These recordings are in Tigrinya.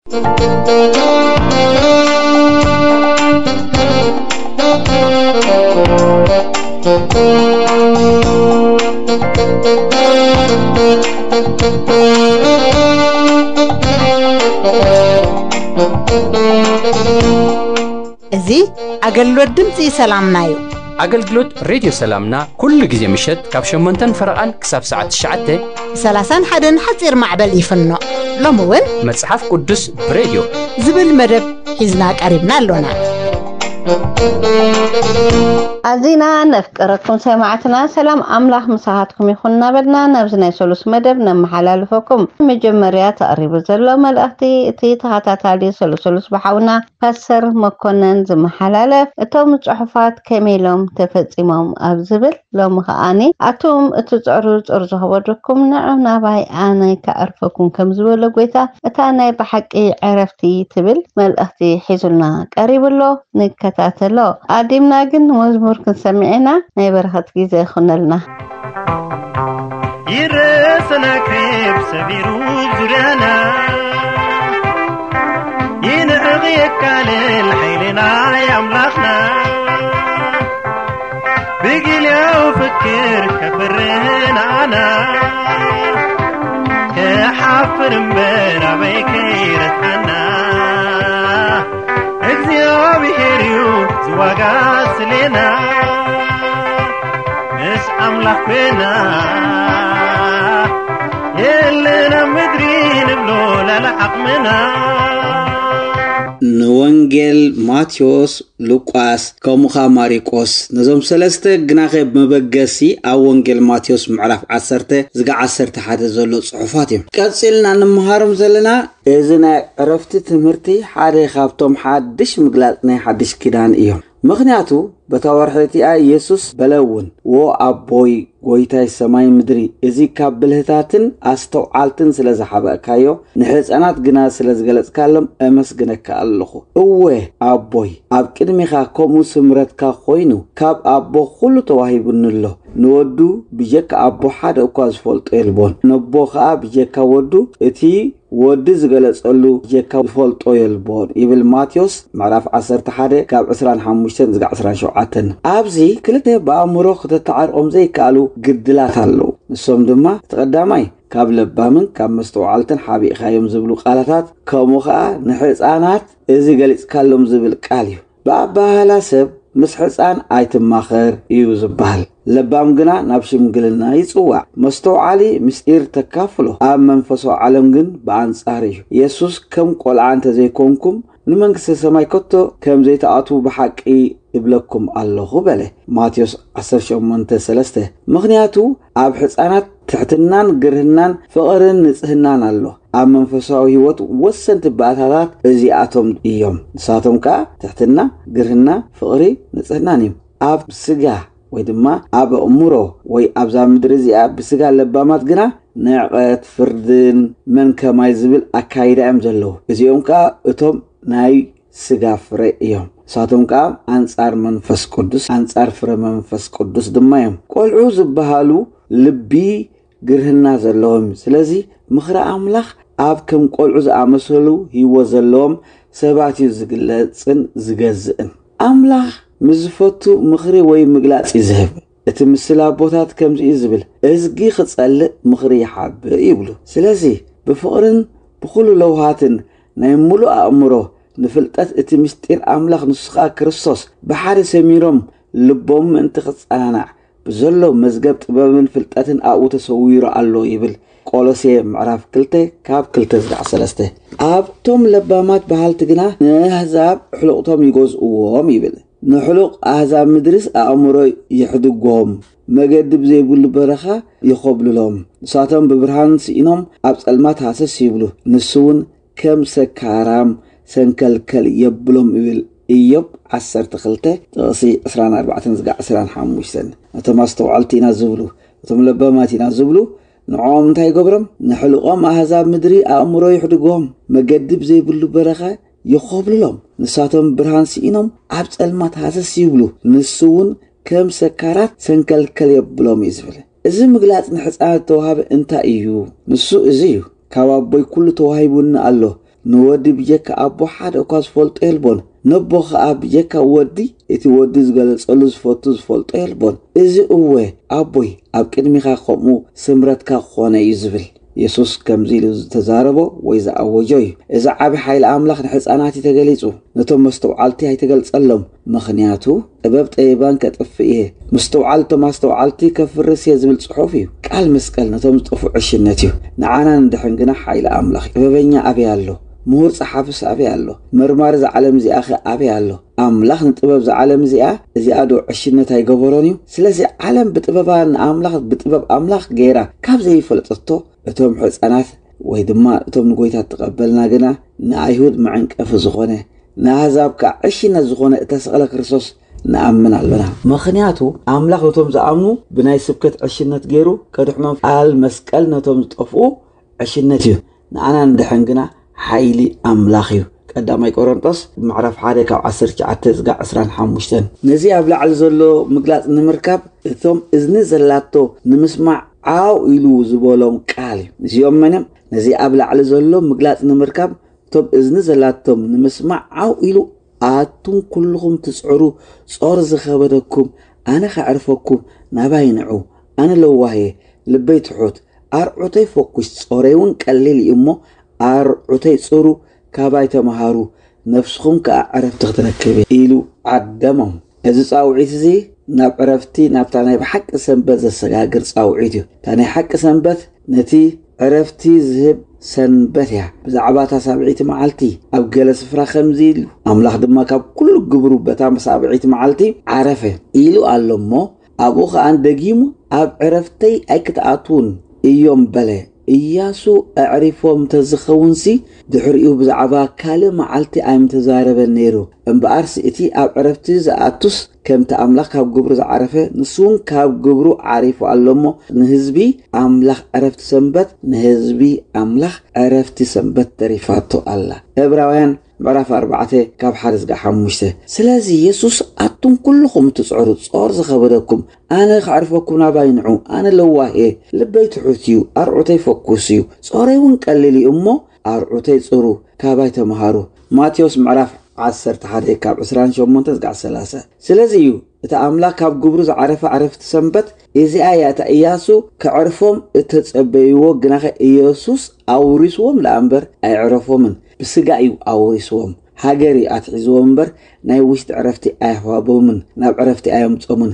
እዚ ኣገልግሎት ድምፂ ሰላምና እዩ። ኣገልግሎት ሬድዮ ሰላምና ኩሉ ግዜ ምሸት ካብ ሸሞንተን ፈረቓን ክሳብ ሰዓት ትሽዓተ ብ ሰላሳን ሓደን ሓፂር ማዕበል ይፍኖ። ሎሚ እውን መጽሓፍ ቅዱስ ብሬድዮ ዝብል መደብ ሒዝና ቀሪብና ኣሎና። ኣዚና ነፍቀረኩም ሰማዕትና ሰላም ኣምላኽ ምሳኻትኩም ይኹን እናበልና ናብዚ ናይ ሰሉስ መደብ ነመሓላልፈኩም። መጀመርያ ተቐሪቡ ዘሎ መልእኽቲ እቲ ተኸታታሊ ሰሉስ ሰሉስ ብሓውና ፓስተር መኮነን ዝመሓላለፍ፣ እቶም ጽሑፋት ከመይ ኢሎም ተፈጺሞም ኣብ ዝብል፣ ሎሚ ከኣኒ ኣቱም እትጽዕሩ ጾር ዝኸበደኩም ንዑ ናባይ ኣነ ከዕርፈኩም ከም ዝበሎ ጐይታ፣ እታ ናይ ብሓቂ ዕረፍቲ ትብል መልእኽቲ ሒዙልና ቀሪቡ ኣሎ። ንከታተሎ። ኣዲምና ግን መዝሙር ክንሰምዕ ኢና። ናይ በረኸት ግዜ ይኹነልና። ይረሰና ክብ ሰቢሩ ዙርያና ይንዕቕ የካልል ሓይልና ኣምላኽና ብጊልያው ፍክር ከፍርህናና ክሓፍር እምበር ኣበይ ከይረትዓና እግዚኣብሔር እዩ ዝዋጋ ስሌና ምስ ኣምላኽ ኮይና የለን ኣብ ምድሪ ንብሎ ላለ ዓቕምና። ንወንጌል ማቴዎስ፣ ሉቃስ፣ ከምኡ ኸኣ ማሪቆስ፣ ነዞም ሰለስተ ግናኸ ብመበገሲ ኣብ ወንጌል ማቴዎስ ምዕራፍ ዓሰርተ ዝጋ ዓሰርተ ሓደ ዘሎ ጽሑፋት እዮም። ቀጺልና እንመሃሮም ዘለና እዚ ናይ ዕረፍቲ ትምህርቲ ሓደ ካብቶም ሓድሽ ምግላጽ ናይ ሓድሽ ኪዳን እዮም። ምኽንያቱ በታ ወርሒ እቲኣ ኢየሱስ በለ እውን፣ "ዎ ኣቦይ፣ ጐይታይ ሰማይ ምድሪ፣ እዚ ካብ ብልህታትን ኣስተውዓልትን ስለ ዝሓበእካዮ፣ ንሕፃናት ግና ስለ ዝገለጽካሎም እመስግነካ ኣለኹ። እወ ኣቦይ፣ ኣብ ቅድሚኻ ከምኡ ስምረትካ ኮይኑ፣ ካብ ኣቦ ኩሉ ተዋሂቡኒ ኣሎ። ንወዱ ብጀካ ኣቦ ሓደ እኳ ዝፈልጦ የልቦን። ነቦ ኸኣ ብጀካ ወዱ እቲ ወዲ ዝገለጸሉ ጀካ ዝፈልጦ የልቦን" ይብል ማቴዎስ ምዕራፍ ዓሰርተ ሓደ ካብ ዕስራን ሓሙሽተን ዝጋ ዕስራን ሸውዓተን። ኣብዚ ክልተ ብኣእምሮ ክተተዓርቆም ዘይከኣሉ ግድላት ኣለዉ። ንሶም ድማ እቲ ቀዳማይ ካብ ለባምን ካብ መስተውዓልትን ሓቢእኻዮም ዝብሉ ቃላታት፣ ከምኡ ኸኣ ንሕፃናት እዚ ገሊጽካሎም ዝብል ቃል እዩ። ብኣበሃህላ ሰብ ምስ ሕፃን ኣይትማኸር እዩ ዝበሃል። ለባም ግና ናብ ሽምግልና ይጽዋዕ። መስተውዓሊ ምስጢር ተካፍሎ፣ ኣብ መንፈሳዊ ዓለም ግን ብኣንጻር እዩ። የሱስ ከም ቆልዓ እንተ ዘይኮንኩም ንመንግስተ ሰማይ ከቶ ከም ዘይትኣትዉ ብሓቂ እብለኩም ኣለኹ በለ። ማቴዎስ ዓሰርተ ሸሞንተ ሰለስተ። ምኽንያቱ ኣብ ሕፃናት ትሕትናን ግርህናን ፍቕርን ንጽህናን ኣሎ። ኣብ መንፈሳዊ ህይወት ወሰንቲ ባእታታት እዚኣቶም እዮም። ንሳቶም ከኣ ትሕትና፣ ግርህና፣ ፍቕሪ፣ ንጽህናን እዮም። ኣብ ስጋ ወይ ድማ ኣብ ኣእምሮ ወይ ኣብዛ ምድሪ እዚኣ ብስጋ ለባማት ግና ንዕቐት፣ ፍርድን መን ከማይ ዝብል ኣካይዳ እዮም ዘለዉ። እዚኦም ከኣ እቶም ናይ ስጋ ፍረ እዮም። ንሳቶም ከኣ ኣንጻር መንፈስ ቅዱስ፣ ኣንጻር ፍረ መንፈስ ቅዱስ ድማ እዮም። ቆልዑ ዝበሃሉ ልቢ፣ ግርህና ዘለዎም። ስለዚ ምኽሪ ኣምላኽ ኣብ ከም ቆልዑ ዝኣመሰሉ ህይወት ዘለዎም ሰባት እዩ ዝግለጽን ዝገዝእን። ኣምላኽ ምስ ዝፈቱ ምኽሪ ወይ ምግላጽ እዩ ዝህብ። እቲ ምስል ኣቦታት ከምዚ እዩ ዝብል፣ "እዝጊ ክጸልእ ምኽሪ ይሓብእ" ይብሉ። ስለዚ ብፍቕርን ብኹሉ ለውሃትን ናይ ምሉእ ኣእምሮ ንፍልጠት እቲ ምስጢር ኣምላኽ ንሱ ኸኣ ክርስቶስ ብሓደ ሰሚሮም ልቦም ምእንቲ ክጸናናዕ ብዘሎ መዝገብ ጥበብን ፍልጠትን ኣብኡ ተሰዊሩ ኣሎ ይብል። ቆሎሴ ምዕራፍ ክልተ ካብ ክልተ ዝዳዕ ሰለስተ። ኣብቶም ለባማት በሃልቲ ግና ንኣህዛብ ሕሉቕቶም ይገዝእዎም ይብል። ንሕሉቕ ኣህዛብ ምድርስ ኣእምሮ ይሕድጎም፣ መገዲ ብዘይብሉ በረኻ ይኾብልሎም። ንሳቶም ብብርሃን ስኢኖም ኣብ ጸልማት ሃሰስ ይብሉ። ንሱ እውን ከም ሰካራም ሰንከልከል የብሎም ይብል። ኢዮብ ዓሰርተ ክልተ ጥቕሲ ዕስራን ኣርባዕተን ዝጋ ዕስራን ሓሙሽተን። ነቶም ኣስተውዓልቲ ኢና ዝብሉ፣ እቶም ለባማት ኢና ዝብሉ፣ ንዕኦም እንታይ ይገብሮም? ንሕልቆም ኣህዛብ ምድሪ ኣእምሮ ይሕድጎም፣ መገዲ ብዘይብሉ በረኻ ይኾብልሎም። ንሳቶም ብርሃን ስኢኖም ኣብ ጸልማት ሃሰስ ይብሉ፣ ንሱ እውን ከም ሰካራት ሰንከልከል የብሎም እዩ ዝብል። እዚ ምግላጽ ንሕፃናት ዝተዋህበ እንታይ እዩ? ንሱ እዚ እዩ፣ "ካብ ኣቦይ ኩሉ ተዋሂቡኒ ኣሎ፣ ንወዲ ብጀካ ኣቦ ሓደ እኳ ዝፈልጦ የልቦን፣ ነቦ ከኣ ብጀካ ወዲ እቲ ወዲ ዝገለጸሉ ዝፈቱ ዝፈልጦ የልቦን። እዚ እወ ኣቦይ ኣብ ቅድሚኻ ከምኡ ስምረትካ ክኾነ እዩ ዝብል። የሱስ ከምዚ ኢሉ ዝተዛረቦ ወይ ዝኣወጆ እዩ። እዚ ዓቢ ሓይሊ ኣምላኽ ንሕፃናት እዩ ተገሊጹ። ነቶም መስተውዓልቲ ኣይተገልጸሎም፣ ምኽንያቱ ጥበብ ጠቢባን ከጥፍእ እየ፣ ምስትውዓል እቶም ኣስተውዓልቲ ከፍርስ እየ ዝብል ጽሑፍ እዩ። ቃል መስቀል ነቶም ዝጠፍኡ ዕሽነት እዩ፣ ንዓና ንድሕን ግና ሓይሊ ኣምላኽ እዩ። ጥበበኛ ኣበይ ኣሎ? ምሁር ጸሓፍስ ኣበይ ኣሎ? መርማሪ እዛ ዓለም እዚኣኸ ኣበይ ኣሎ? ኣምላኽ ንጥበብ እዛ ዓለም እዚኣ፣ እዚኣ ዶ ዕሽነት ኣይገበሮን እዩ? ስለዚ ዓለም ብጥበባ ንኣምላኽ፣ ብጥበብ ኣምላኽ ገይራ ካብ ዘይፈለጠቶ፣ እቶም ሕፃናት ወይ ድማ እቶም ንጎይታ እተቐበልና ግና ንኣይሁድ መዐንቀፊ ዝኾነ፣ ንኣህዛብ ከኣ ዕሽነት ዝኾነ እተሰቕለ ክርስቶስ ንኣምን ኣሎና። ምኽንያቱ ኣምላኽ ነቶም ዝኣምኑ ብናይ ስብከት ዕሽነት ገይሩ ከድሕኖም፣ ቃል መስቀል ነቶም ዝጠፍኡ ዕሽነት እዩ፣ ንኣና ንድሕን ግና ሓይሊ ኣምላኽ እዩ። ቀዳማይ ቆሮንጦስ ምዕራፍ ሓደ ካብ ዓሰርተ ትሽዓተ ዝጋ ዕስራን ሓሙሽተን። ነዚ ኣብ ላዕሊ ዘሎ ምግላጽ ንምርካብ እቶም እዝኒ ዘላቶ ንምስማዕ ዓው ኢሉ ዝበሎም ቃል እዩ። እዚኦም መን እዮም? ነዚ ኣብ ላዕሊ ዘሎ ምግላጽ ንምርካብ እቶም እዝኒ ዘላቶም ንምስማዕ ዓው ኢሉ፣ ኣቱም ኩልኹም ትጽዕሩ፣ ጾር ዝኸበደኩም፣ ኣነ ከዕርፈኩም፣ ናባይ ንዑ፣ ኣነ ለዋህ እየ፣ ልበይ ትሑት፣ ኣርዑተይ ፈኩስ፣ ጾረይ እውን ቀሊል እዩ እሞ ኣርዑተይ ጽሩ፣ ካባይ ተመሃሩ፣ ነፍስኹም ከኣ ዕረፍቲ ክትረክብ እያ ኢሉ ዓደሞም። እዚ ጻውዒት እዚ ናብ ዕረፍቲ፣ ናብታ ናይ ብሓቂ ሰንበት ዘሰጋግር ጻውዒት እዩ። እታ ናይ ሓቂ ሰንበት ነቲ ዕረፍቲ ዝህብ ሰንበት እያ። ብዛዕባ እታ ሳብዒቲ መዓልቲ ኣብ ገለ ስፍራ ከምዚ ኢሉ፣ ኣምላኽ ድማ ካብ ኩሉ ግብሩ በታ ሳብዒቲ መዓልቲ ዓረፈ ኢሉ ኣሎ እሞ፣ ኣብኡ ኸኣ ደጊሙ ኣብ ዕረፍተይ ኣይክትኣትዉን እዮም በለ። ኢያሱ ኣዕሪፎም እንተዝኸውንሲ፣ ድሕሪኡ ብዛዕባ ካልእ መዓልቲ ኣይምተዛረበን ነይሩ። እምበኣርሲ እቲ ኣብ ዕረፍቲ ዝኣቱስ ከምቲ ኣምላኽ ካብ ግብሩ ዝዓረፈ፣ ንሱ እውን ካብ ግብሩ ዓሪፉ ኣሎ እሞ፣ ንህዝቢ ኣምላኽ ዕረፍቲ ሰንበት፣ ንህዝቢ ኣምላኽ ዕረፍቲ ሰንበት ተሪፋቶ ኣላ። ዕብራውያን ምዕራፍ ኣርባዕተ ካብ ሓደ ዝጋ ሓሙሽተ። ስለዚ የሱስ፣ ኣቱም ኩልኹም እትጽዕሩ፣ ጾር ዝኸበደኩም፣ ኣነ ከዕርፈኩም ናባይ ንዑ፣ ኣነ ለዋህ እየ፣ ልበይ ትሑት እዩ፣ ኣርዑተይ ፈኩስ እዩ፣ ጾረይ እውን ቀሊል እዩ እሞ ኣርዑተይ ጽሩ፣ ካባይ ተምሃሩ። ማቴዎስ ምዕራፍ ዓሰርተ ሓደ ካብ ዕስራን ሸሞንተ ዝጋ ሰላሳ። ስለዚ እዩ እቲ ኣምላኽ ካብ ግብሩ ዝዓረፈ ዕረፍቲ ሰንበት እዚኣ እያ፣ እታ ኢያሱ ከዕርፎም እተጸበይዎ፣ ግናኸ ኢየሱስ ኣውሪስዎም ደኣ እምበር ኣየዕረፎምን። ብስጋ እዩ ኣውሪስዎም፣ ሃገር እዩ ኣትሒዝዎም እምበር ናይ ውሽጢ ዕረፍቲ ኣይሃቦምን፣ ናብ ዕረፍቲ ኣየምጾምን።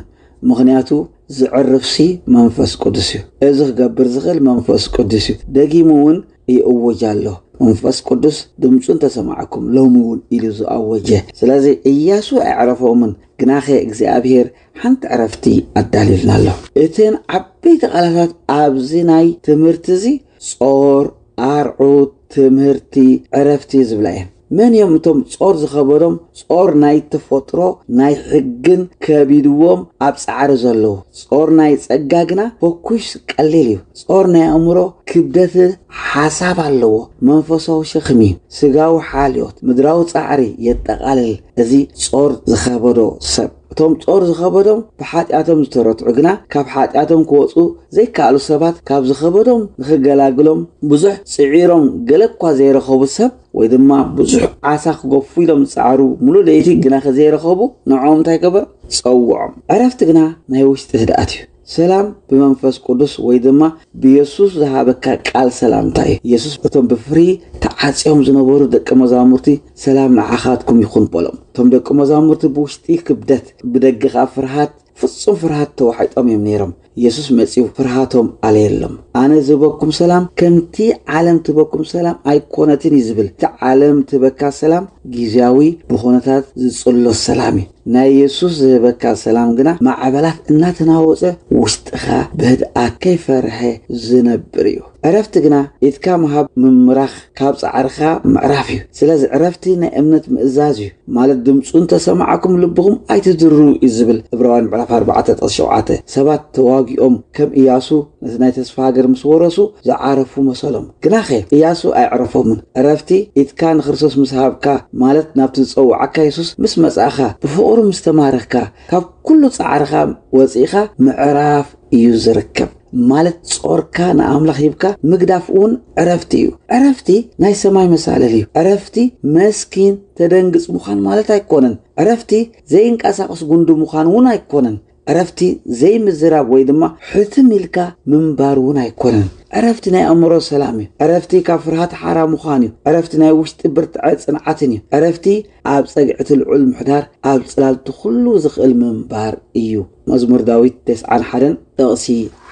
ምኽንያቱ ዝዕርፍሲ መንፈስ ቅዱስ እዩ። እዚ ክገብር ዝኽእል መንፈስ ቅዱስ እዩ። ደጊሙ እውን ይእውጅ ኣሎ። መንፈስ ቅዱስ ድምፁ እንተሰማዕኩም ሎሚ እውን ኢሉ ዝኣወጀ። ስለዚ ኢያሱ ኣየዕረፎምን፣ ግናኸ እግዚኣብሔር ሓንቲ ዕረፍቲ ኣዳልዩልና ኣሎ። እተን ዓበይቲ ቃላታት ኣብዚ ናይ ትምህርቲ እዚ ጾር፣ ኣርዑት፣ ትምህርቲ፣ ዕረፍቲ ዝብላ እየን። መን እዮም እቶም ጾር ዝኸበዶም? ጾር ናይ ተፈጥሮ፣ ናይ ሕግን ከቢድዎም ኣብ ጻዕሪ ዘለዉ። ጾር ናይ ጸጋ ግና ፈኩስ ቀሊል እዩ። ጾር ናይ ኣእምሮ ክብደት ሓሳብ ኣለዎ። መንፈሳዊ ሸኽሚ እዩ። ስጋዊ ሓልዮት፣ ምድራዊ ጻዕሪ የጠቓልል። እዚ ጾር ዝኸበዶ ሰብ። እቶም ጾር ዝኸበዶም ብሓጢኣቶም ዝተረትዑ ግና ካብ ሓጢኣቶም ክወጹ ዘይከኣሉ ሰባት፣ ካብ ዝኸበዶም ንኽገላግሎም ብዙሕ ጽዒሮም ገለ እኳ ዘይረኸቡ ሰብ፣ ወይ ድማ ብዙሕ ዓሳ ክገፉ ኢሎም ዝጸዓሩ፣ ሙሉእ ለይቲ ግናኸ ዘይረኸቡ፣ ንዕኦም እንታይ ገበር? ጸውዖም። ዕረፍቲ ግና ናይ ውሽጢ ህድኣት እዩ። ሰላም ብመንፈስ ቅዱስ ወይ ድማ ብየሱስ ዝሃበካ ቃል ሰላምታ እዩ። የሱስ እቶም ብፍርሂ ተዓጽዮም ዝነበሩ ደቂ መዛሙርቲ፣ "ሰላም ንዓኻትኩም ይኹን" በሎም። እቶም ደቂ መዛሙርቲ ብውሽጢ ክብደት፣ ብደገ ኸኣ ፍርሃት፣ ፍጹም ፍርሃት ተዋሒጦም እዮም ነይሮም። የሱስ መጺኡ ፍርሃቶም ኣለየሎም። "ኣነ ዝህበኩም ሰላም፣ ከምቲ ዓለም ትህበኩም ሰላም ኣይኮነትን" እዩ ዝብል። እቲ ዓለም ትህበካ ሰላም ግዝያዊ ብኹነታት ዝጽሎ ሰላም እዩ። ናይ የሱስ ዝህበካ ሰላም ግና ማዕበላት እናተናወጸ ውሽጥኻ ብህድኣት ከይፈርሐ ዝነብር እዩ። ዕረፍቲ ግና ኢድካ ምሃብ ምምራኽ ካብ ጻዕርኻ ምዕራፍ እዩ። ስለዚ ዕረፍቲ ናይ እምነት ምእዛዝ እዩ። ማለት ድምፁ እንተሰማዕኩም ልብኹም ኣይትድርሩ እዩ ዝብል ዕብራውያን ምዕራፍ ኣርባዕተ ጥቕሲ ሸውዓተ። ሰባት ተዋጊኦም ከም ኢያሱ ነቲ ናይ ተስፋ ሃገር ምስ ወረሱ ዝዓረፉ መሰሎም። ግናኸ ኢያሱ ኣይዕረፎምን። ዕረፍቲ ኢድካ ንክርስቶስ ምስ ሃብካ፣ ማለት ናብቲ ዝጸውዓካ የሱስ ምስ መጻእካ፣ ብፍቕሩ ምስ ተማረኽካ፣ ካብ ኩሉ ጻዕርኻ ወጺእኻ ምዕራፍ እዩ ዝርከብ። ማለት ጾርካ ንኣምላኽ ሂብካ ምግዳፍ እውን ዕረፍቲ እዩ። ዕረፍቲ ናይ ሰማይ መሳለል እዩ። ዕረፍቲ መስኪን ተደንግጽ ምዃን ማለት ኣይኮነን። ዕረፍቲ ዘይንቀሳቐስ ጉንዲ ምዃን እውን ኣይኮነን። ዕረፍቲ ዘይምዝራብ ወይ ድማ ሕትም ኢልካ ምንባር እውን ኣይኮነን። ዕረፍቲ ናይ ኣእምሮ ሰላም እዩ። ዕረፍቲ ካብ ፍርሃት ሓራ ምዃን እዩ። ዕረፍቲ ናይ ውሽጢ ብርትዐ ጽንዓትን እዩ። ዕረፍቲ ኣብ ጸግዕቲ ልዑል ምሕዳር ኣብ ጽላልቲ ኩሉ ዝኽእል ምንባር እዩ። መዝሙር ዳዊት ተስዓን ሓደን ጥቕሲ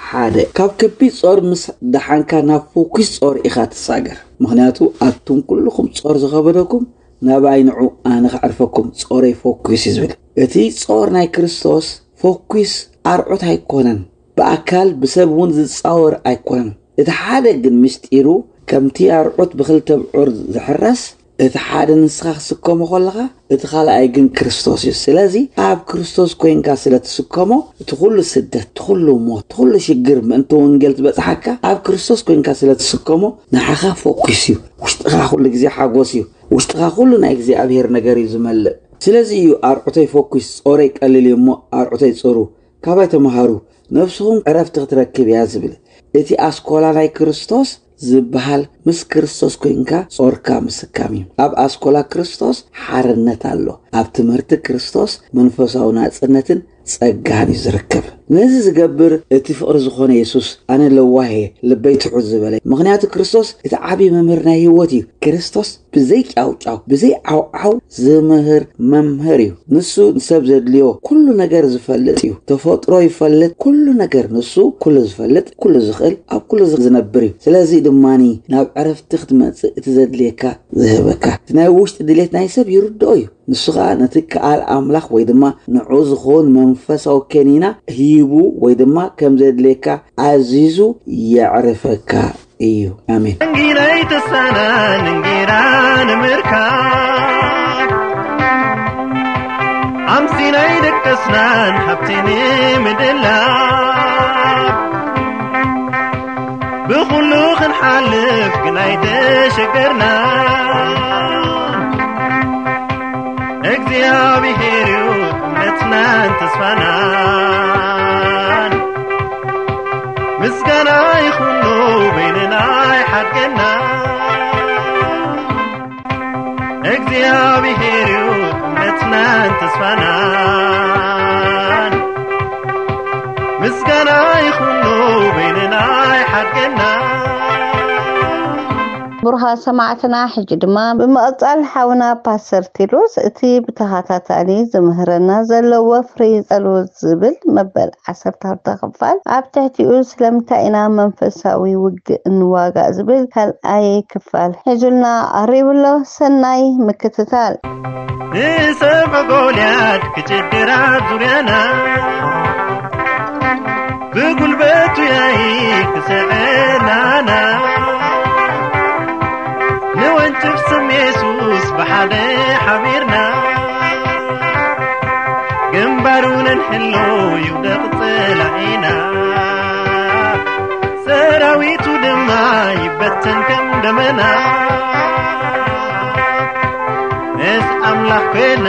ሓደ። ካብ ከቢድ ጾር ምስ ደሓንካ ናብ ፈኲስ ጾር ኢኻ ትሳገር። ምኽንያቱ ኣቱም ኩልኹም ጾር ዝኸበደኩም ናብኣይ ንዑ ኣነ ከዕርፈኩም፣ ጾረይ ፈኲስ እዩ ዝብል። እቲ ጾር ናይ ክርስቶስ ፈኲስ ኣርዑት ኣይኮነን። ብኣካል ብሰብ እውን ዝጻወር ኣይኮነን። እቲ ሓደ ግን ምስጢሩ ከምቲ ኣርዑት ብኽልተ ብዑር ዝሕረስ እቲ ሓደ ንስኻ ክስከሞ ከለኻ እቲ ካልኣይ ግን ክርስቶስ እዩ። ስለዚ ኣብ ክርስቶስ ኮይንካ ስለ ትስከሞ እቲ ኩሉ ስደት፣ እቲ ኩሉ ሞት፣ እቲ ኩሉ ሽግር ምእንቲ ወንጌል ዝበጽሓካ ኣብ ክርስቶስ ኮይንካ ስለ ትስከሞ ንዓኻ ፈኲስ እዩ። ውሽጥኻ ኩሉ ግዜ ሓጎስ እዩ። ውሽጥኻ ኩሉ ናይ እግዚኣብሔር ነገር እዩ ዝመልእ። ስለዚ እዩ ኣርዑተይ ፈኲስ፣ ጾረይ ቀሊል እዩ እሞ ኣርዑተይ ጽሩ፣ ካባይ ተምሃሩ፣ ነፍስኹም ዕረፍቲ ክትረክብ እያ ዝብል። እቲ ኣስኮላ ናይ ክርስቶስ ዝበሃል ምስ ክርስቶስ ኮይንካ ጾርካ ምስካም እዩ። ኣብ ኣስኮላ ክርስቶስ ሓርነት ኣሎ። ኣብ ትምህርቲ ክርስቶስ መንፈሳዊ ናጽነትን ጸጋን እዩ ዝርከብ። ነዚ ዝገብር እቲ ፍቕሪ ዝኾነ የሱስ ኣነ ለዋህ እየ፣ ልበይ ትሑት ዝበለ። ምኽንያቱ ክርስቶስ እቲ ዓብዪ መምህር ናይ ህይወት እዩ። ክርስቶስ ብዘይ ጫውጫው ብዘይ ዓውዓው ዝምህር መምህር እዩ። ንሱ ንሰብ ዘድልዮ ኩሉ ነገር ዝፈልጥ እዩ። ተፈጥሮ ይፈልጥ፣ ኩሉ ነገር ንሱ ኩሉ ዝፈልጥ፣ ኩሉ ዝኽእል፣ ኣብ ኩሉ ዝነብር እዩ። ስለዚ ድማኒ ናብ ዕረፍቲ ክትመጽእ እቲ ዘድልየካ ዝህበካ። እቲ ናይ ውሽጢ ድሌት ናይ ሰብ ይርድኦ እዩ። ንሱ ኸኣ ነቲ ከኣል ኣምላኽ ወይ ድማ ንዑ ዝኸውን መንፈሳዊ ከኒና ሂቡ ወይ ድማ ከም ዘድልየካ ኣዚዙ የዕርፈካ እዩ። ኣሜን። እንጊናይ ተሳናን እንጊና ንምርካብ ኣምሲናይ ደቀስናን ሃብቲ ንምድላብ ብኹሉ ክንሓልፍ ግናይ ተሸገርና እግዚኣብሔር እዩ እምነትናን ተስፋናን ምስጋና ይኹኑ በይንና ይሓድገና እግዚኣብሔር እዩ እምነትናን ተስፋናን ምስጋና ይኹኑ በይንና ይሓድገና ብሩኻ ሰማዕትና ሕጂ ድማ ብምቕጻል ሓውና ፓስተር ቴድሮስ እቲ ብተኸታታሊ ዝምህረና ዘሎ ወፍሪ ጸሎት ዝብል መበል ዓሰርተ ክልተ ክፋል ኣብ ትሕቲኡ ስለምንታይ ኢና መንፈሳዊ ውግእ እንዋጋእ ዝብል ካልኣይ ክፋል ሒዙልና ቀሪቡ ኣሎ። ሰናይ ምክትታል። ንሰብዒ ጎልያድ ክጭድር ኣብ ዙርያና ብጉልበቱ ያይ ክስዕናና ንወንጭፍ ስም የሱስ ብሓደ ሓቢርና ግንባሩ ነንሕሎ ይውደቕ ጸላኢና ሰራዊቱ ድማ ይበተን ከም ደመና ምስ ኣምላኽ ኮይና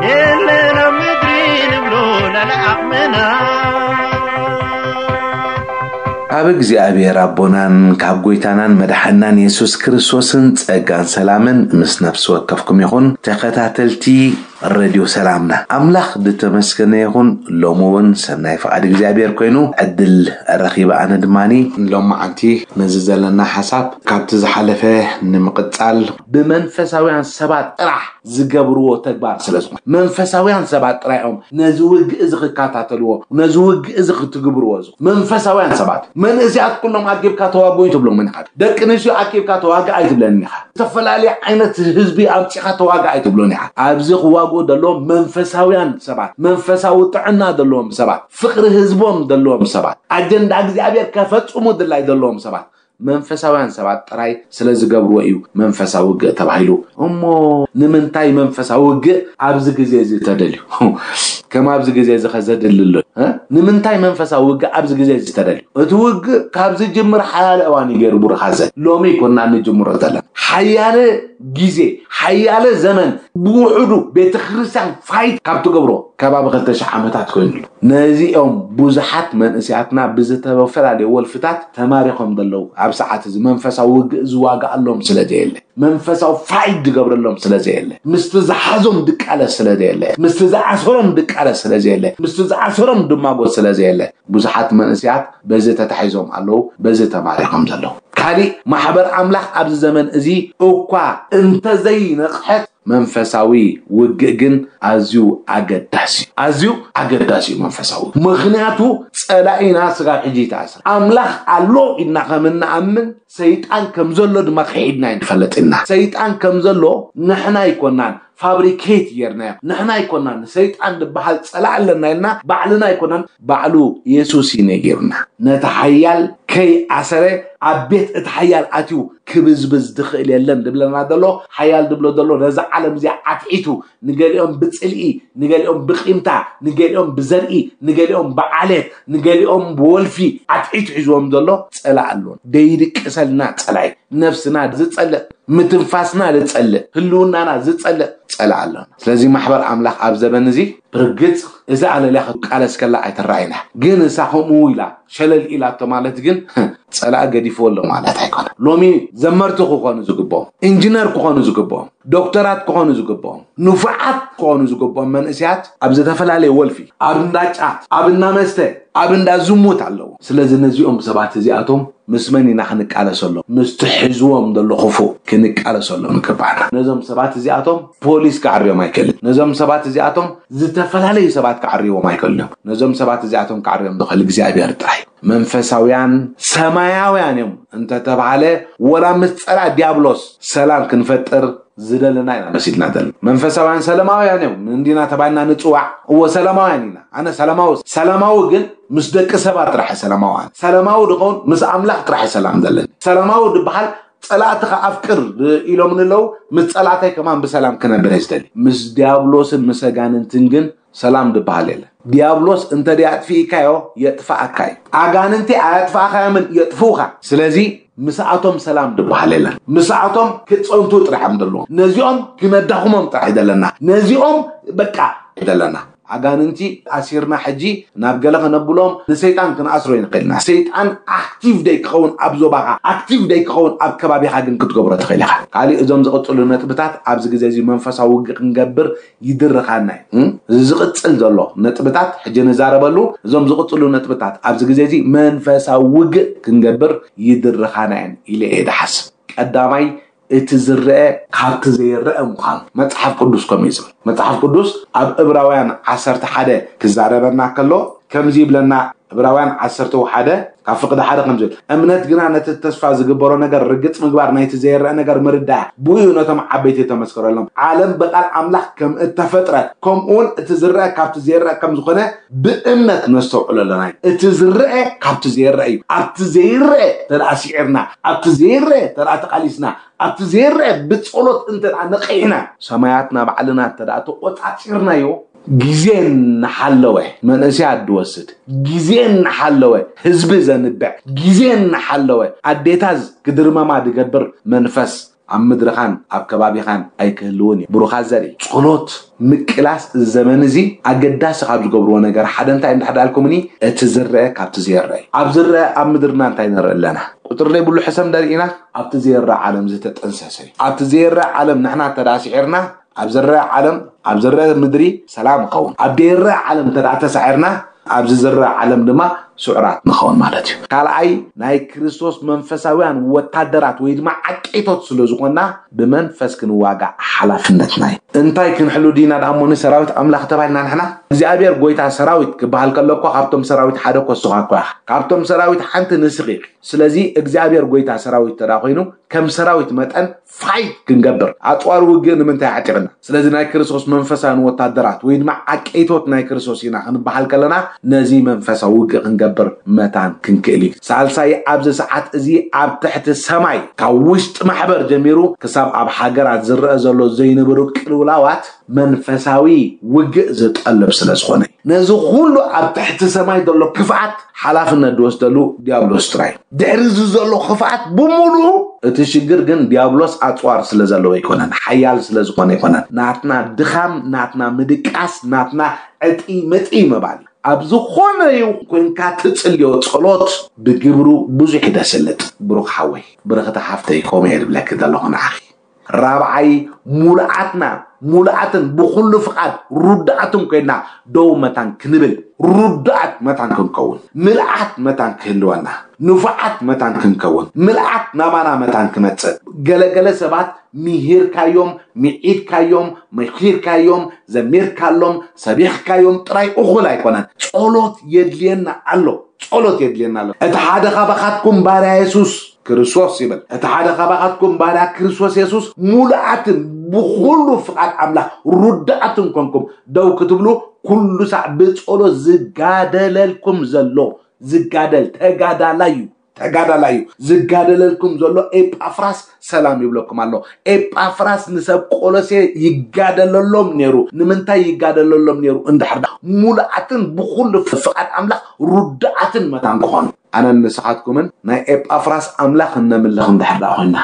የለን ኣብ ምድሪ ንብሎ ላለ ዓቕምና ካብ እግዚኣብሔር ኣቦናን ካብ ጎይታናን መድሓናን የሱስ ክርስቶስን ጸጋን ሰላምን ምስ ነፍሲ ወከፍኩም ይኹን። ተኸታተልቲ ረድዮ ሰላምና ኣምላኽ ዝተመስገነ ይኹን። ሎሚ እውን ሰናይ ፍቓድ እግዚኣብሔር ኮይኑ ዕድል ረኺበ። ኣነ ድማኒ ሎማዓንቲ ነዚ ዘለና ሓሳብ ካብቲ ዝሓለፈ ንምቕጻል ብመንፈሳውያን ሰባት ጥራሕ ዝገብርዎ ተግባር ስለ ዝኾነ መንፈሳውያን ሰባት ጥራይ እዮም ነዚ ውግእ እዚ ክከታተልዎ ነዚ ውግእ እዚ ክትግብርዎ እዚ መንፈሳውያን ሰባት መንእስያት ኩሎም ኣኪብካ ተዋግኡ ትብሎምን ኢኻ። ደቂ ኣንስትዮ ኣኪብካ ተዋግእ ኣይትብለንን ኢኻ። ዝተፈላለየ ዓይነት ህዝቢ ኣምጺኻ ተዋግእ ኣይትብሎን ኢኻ። ኣብዚ ክዋግኡ ዘለዎም መንፈሳውያን ሰባት መንፈሳዊ ጥዕና ዘለዎም ሰባት ፍቕሪ ህዝቦም ዘለዎም ሰባት ኣጀንዳ እግዚኣብሔር ከፈጽሙ ድላይ ዘለዎም ሰባት መንፈሳውያን ሰባት ጥራይ ስለ ዝገብርዎ እዩ መንፈሳዊ ውግእ ተባሂሉ። እሞ ንምንታይ መንፈሳዊ ውግእ ኣብዚ ግዜ እዚ ተደልዩ? ከም ኣብዚ ግዜ እዚ ከዘድሊ ኣሎ? እ? ንምንታይ መንፈሳዊ ውግእ ኣብዚ ግዜ እዚ ተደልዩ? እቲ ውግእ ካብ ዝጅምር ሓያለ እዋን እዩ ገይሩ፣ ብሩኻት ዘ-፣ ሎሚ ይኮና እንጅምሮ ዘለና። ሓያለ ግዜ፣ ሓያለ ዘመን ብውሕዱ ቤተክርስትያን ፋይት ካብ ትገብሮ ከባቢ ክልተ ሽሕ ዓመታት ኮይኑ ኣሎ። ነዚኦም ብዙሓት መንእሰያትና ብዝተፈላለዩ ወልፍታት ተማሪኾም ዘለዉ፣ ኣብ ሰዓት እዚ መንፈሳዊ ውግእ ዝዋጋኣሎም ስለ ዘየለ፣ መንፈሳዊ ፋይት ዝገብረሎም ስለ ዘየለ፣ ምስቲ ዝሓዞም ድቃለስ ስለ ዘየለ፣ ምስቲ ዝኣሰሮም ድቃለስ ስለ ዘየለ፣ ምስቲ ዝኣሰሮም ድማጎት ስለ ዘየለ፣ ብዙሓት መንእሰያት በዚ ተታሒዞም ኣለዉ፣ በዚ ተማሪኾም ዘለዉ። ካሊእ፣ ማሕበር ኣምላኽ ኣብዚ ዘመን እዚ እኳ እንተዘይነቕሐት፣ መንፈሳዊ ውግእ ግን ኣዝዩ ኣገዳሲ እዩ። ኣዝዩ ኣገዳሲ እዩ መንፈሳዊ ውግእ። ምኽንያቱ፣ ጸላኢና ስጋብ ሕጂ ይተኣስር። ኣምላኽ ኣሎ ኢልና ከም እንኣምን፣ ሰይጣን ከም ዘሎ ድማ ክሒድና ኣይንፈልጥ ኢና። ሰይጣን ከም ዘሎ ንሕና ኣይኮናን ፋብሪኬት ጌርናዮ። ንሕና ኣይኮናን ሰይጣን ዝበሃል ጸላኢ ኣለና ኢልና ባዕልና ኣይኮናን፣ ባዕሉ የሱስ እዩ ነጊሩና። ነቲ ሓያል ከይኣሰረ ኣብ ቤት እቲ ሓያል ኣትዩ ክብዝብዝ ዝኽእል የለን ድብለና ዘሎ፣ ሓያል ድብሎ ዘሎ ነዛ ዓለም እዚኣ ኣትሒቱ ንገሊኦም ብጽልኢ፣ ንገሊኦም ብቂምታ፣ ንገሊኦም ብዘርኢ፣ ንገሊኦም ብዓሌት፣ ንገሊኦም ብወልፊ ኣትሒቱ ሒዝዎም ዘሎ ጸላኢ ኣለዎ። ደይድቅሰልና ጸላኢ፣ ነፍስና ዝጸልእ፣ ምትንፋስና ዝጸልእ፣ ህልውናና ዝጸልእ ጸላኢ ኣለና። ስለዚ ማሕበር ኣምላኽ ኣብ ዘበን እዚ ብርግጽ እዚ ኣለልያ ክትቃለስ ከላ ኣይትረኣይና። ግን እሳ ከምኡ ኢላ ሸለል ኢላቶ ማለት ግን ጸላኢ ገዲፍዎ ኣሎ ማለት ኣይኮነ። ሎሚ ዘመርቲ ክኾኑ ዝግብኦም፣ ኢንጂነር ክኾኑ ዝግብኦም፣ ዶክተራት ክኾኑ ዝግብኦም፣ ንፉዓት ክኾኑ ዝግብኦም መንእሰያት ኣብ ዝተፈላለየ ወልፊ፣ ኣብ እንዳ ጫት፣ ኣብ እንዳ መስተ፣ ኣብ እንዳ ዝሙት ኣለዉ። ስለዚ ነዚኦም ሰባት እዚኣቶም ምስ መን ኢና ክንቃለሰሎም? ምስቲ ሒዝዎም ዘሎ ክፉእ ክንቃለሰሎም ይግባና። ነዞም ሰባት እዚኣቶም ፖሊስ ክዓርዮም ኣይክእልን። ነዞም ሰባት እዚኣቶም ዝተፈላለዩ ሰባት ክዓርይዎም ኣይክእልን እዮም። ነዞም ሰባት እዚኣቶም ክዓርዮም ዝኽእል እግዚኣብሔር ጥራይ እዩ። መንፈሳውያን ሰማያውያን እዮም እንተተባሃለ፣ ወላ ምስ ጸላ ዲያብሎስ ሰላም ክንፈጥር ዝደለና ኢና መሲልና ዘለና። መንፈሳውያን ሰላማውያን እዮም እንዲና ተባልና ንጽዋዕ። እዎ ሰላማውያን ኢና። ኣነ ሰላማዊ፣ ሰላማዊ ግን ምስ ደቂ ሰባት ጥራሕ ሰላማውያን። ሰላማዊ ድኸውን ምስ ኣምላኽ ጥራሕ ሰላም ዘለኒ። ሰላማዊ ድበሃል ጸላእትኻ ኣፍቅር ኢሎም ንለው፣ ምስ ጸላእታይ ከማን ብሰላም ክነብር እየ ዝደሊ። ምስ ዲያብሎስን ምስ ኣጋንንትን ግን ሰላም ድበሃል የለን። ዲያብሎስ እንተ ደኣ ኣጥፊእካዮ የጥፍኣካ እዩ። ኣጋንንቲ ኣያጥፍኣኻዮምን የጥፍኡኻ። ስለዚ ምስኣቶም ሰላም ድበሃል የለን። ምስኣቶም ክጸንቱ ጥራሕ እዮም ዘለዎም። ነዚኦም ክነዳኽሞም ጥራሕ እዩ ዘለና። ነዚኦም በቃ እዩ ዘለና። ኣጋንንቲ ኣሲርና ሕጂ ናብ ገለ ከነብሎም ንሰይጣን ክንኣስሮ ይንኽእል ኢና። ሰይጣን ኣክቲቭ ደይ ክኸውን ኣብ ዞባኻ፣ ኣክቲቭ ደይ ክኸውን ኣብ ከባቢኻ ግን ክትገብሮ ትኽእል ኢኻ። ካሊእ እዞም ዝቕጽሉ ነጥብታት ኣብዚ ግዜ እዚ መንፈሳዊ ውግእ ክንገብር ይድርኻና እዩ። እም? እዚ ዝቕጽል ዘሎ ነጥብታት ሕጂ ንዛረበሉ፣ እዞም ዝቕጽሉ ነጥብታት ኣብዚ ግዜ እዚ መንፈሳዊ ውግእ ክንገብር ይድርኻና እየን ኢለ እየ ድሓስብ። ቀዳማይ፣ እቲ ዝረአ ካብቲ ዘይረአ ምዃኑ መጽሓፍ ቅዱስ ከምኡ እዩ ዝብል። መጽሓፍ ቅዱስ ኣብ ዕብራውያን ዓሰርተ ሓደ ክዛረበና ከሎ ከምዚ ይብለና፣ ዕብራውያን ዓሰርተ ሓደ ካብ ፍቕዲ ሓደ ከምዚ ይብል፣ "እምነት ግና ነቲ ተስፋ ዝግበሮ ነገር ርግጽ ምግባር፣ ናይቲ ዘይረአ ነገር ምርዳእ፣ ብኡ ነቶም ዓበይቲ ተመስከረሎም። ዓለም ብቓል ኣምላኽ ከም እተፈጥረት፣ ከምኡ እውን እቲ ዝረአ ካብቲ ዘይረአ ከም ዝኾነ ብእምነት ነስተውዕሎ ኣለና እዩ። እቲ ዝረአ ካብቲ ዘይረአ እዩ። ኣብቲ ዘይረአ ተደኣ ስዒርና፣ ኣብቲ ዘይረአ ተደኣ ተቓሊስና፣ ኣብቲ ዘይረአ ብጸሎት እንተ ደኣ ነቒሕና፣ ሰማያትና ባዕልና እንተ ደኣ ተቖጻጺርናዮ፣ ግዜ እናሓለወ መንእሰያት ድወስድ፣ ግዜ እናሓለወ ህዝቢ ዘንብዕ፣ ግዜ እናሓለወ ኣዴታት ክድርመማ ድገብር መንፈስ ኣብ ምድርኻን ኣብ ከባቢኻን ኣይክህልውን እዩ። ብሩኻት ዘርኢ፣ ጸሎት ምቅላስ እዚ ዘመን እዚ ኣገዳሲ ካብ ዝገብርዎ ነገር ሓደ እንታይ እንድሕር ዳልኩምኒ፣ እቲ ዝረአ ካብቲ ዘይረአ እዩ። ኣብ ዝረአ ኣብ ምድርና እንታይ ንርኢ ኣለና? ቁጥሪ ዘይብሉ ሕሰም ደሪእና ኣብቲ ዘይረአ ዓለም ዝተጠንሰሰ እዩ። ኣብቲ ዘይረአ ዓለም ንሕና እንተ ደኣ ስዒርና፣ ኣብ ዝረአ ዓለም፣ ኣብ ዝረአ ምድሪ ሰላም ይኸውን። ኣብ ዘይረአ ዓለም እንተ ደኣ ተሳዒርና፣ ኣብዚ ዝረአ ዓለም ድማ ስዑራት ንኸውን ማለት እዩ። ካልኣይ፣ ናይ ክርስቶስ መንፈሳውያን ወታደራት ወይ ድማ ዓቀይቶት ስለ ዝኾንና፣ ብመንፈስ ክንዋጋእ ሓላፍነትና እዩ። እንታይ ክንሕሉ ዲና ደኣ እሞ ንሰራዊት ኣምላኽ ተባሂልና ንሕና? እግዚኣብሔር ጎይታ ሰራዊት ክበሃል ከሎ እኮ ካብቶም ሰራዊት ሓደ እኮ ንስኻ እኮ ኢኻ። ካብቶም ሰራዊት ሓንቲ ንስኺ ኢኺ። ስለዚ እግዚኣብሔር ጎይታ ሰራዊት እንተ ደኣ ኮይኑ፣ ከም ሰራዊት መጠን ፋይት ክንገብር፣ ኣጽዋር ውግእ ንምንታይ ዓጢቕና? ስለዚ ናይ ክርስቶስ መንፈሳውያን ወታደራት ወይ ድማ ዓቀይቶት ናይ ክርስቶስ ኢና ክንበሃል ከለና፣ ነዚ መንፈሳዊ ውግእ ክንገብር መታን ክንክእል እዩ። ሳልሳይ፣ ኣብዚ ሰዓት እዚ ኣብ ትሕቲ ሰማይ ካብ ውሽጢ ማሕበር ጀሚሩ ክሳብ ኣብ ሃገራት ዝረአ ዘሎ ዘይንብሩ ቅልውላዋት መንፈሳዊ ውግእ ዝጠልብ ስለ ዝኾነ እዩ። ነዚ ኩሉ ኣብ ትሕቲ ሰማይ ዘሎ ክፍኣት ሓላፍነት ዝወስደሉ ዲያብሎስ ጥራይ። ድሕሪ እዚ ዘሎ ክፍኣት ብምሉኡ፣ እቲ ሽግር ግን ዲያብሎስ ኣጽዋር ስለ ዘለዎ ኣይኮነን፣ ሓያል ስለ ዝኾነ ኣይኮነን። ናትና ድኻም፣ ናትና ምድቃስ፣ ናትና ዕጢ መጢ ምባል እዩ። ኣብ ዝኾነ ይኹን ኮንካ ትጽልዮ ጸሎት ብግብሩ ብዙሕ እዩ ዘስልጥ። ብሩኽ ሓወይ፣ ብርኽቲ ሓፍተይ፣ ከምኡ እየ ዝብለኪ ዘለኹ ንዓኺ። ራብዓይ፣ ሙሉኣትና፣ ሙሉኣትን ብኹሉ ፍቓድ ርዱኣትን ኮይና ደው መታን ክንብል፣ ርዱኣት መታን ክንከውን፣ ምልኣት መታን ክህልወና፣ ንፉዓት መታን ክንከውን፣ ምልኣት ናባና መታን ክመጽእ። ገለገለ ሰባት ምሂርካዮም፣ ምዒድካዮም፣ መኪርካዮም፣ ዘሚርካሎም፣ ሰቢኽካዮም ጥራይ እኹል ኣይኮነን። ጸሎት የድልየና ኣሎ። ጸሎት የድልየና ኣሎ። እቲ ሓደ ካባኻትኩም ባርያ የሱስ ክርስቶስ ይብል። እቲ ሓደ ካባኻትኩም ባርያ ክርስቶስ የሱስ ሙሉኣትን ብኹሉ ፍቓድ ኣምላኽ ርዱኣትን ኮንኩም ደው ክትብሉ ኩሉ ሳዕ ብጸሎት ዝጋደለልኩም ዘሎ ዝጋደል ተጋዳላይ እዩ። ተጋዳላይ እዩ። ዝጋደለልኩም ዘሎ ኤጳፍራስ ሰላም ይብለኩም ኣሎ። ኤጳፍራስ ንሰብ ቆሎሴ ይጋደለሎም ነይሩ። ንምንታይ ይጋደለሎም ነይሩ? እንድሕር ዳ ሙሉኣትን ብኹሉ ፍቓድ ኣምላኽ ርዱኣትን መታን ክኾኑ። ኣነን ንስኻትኩምን ናይ ኤጳፍራስ ኣምላኽ እነምልኽ እንድሕር ዳ ኮይና፣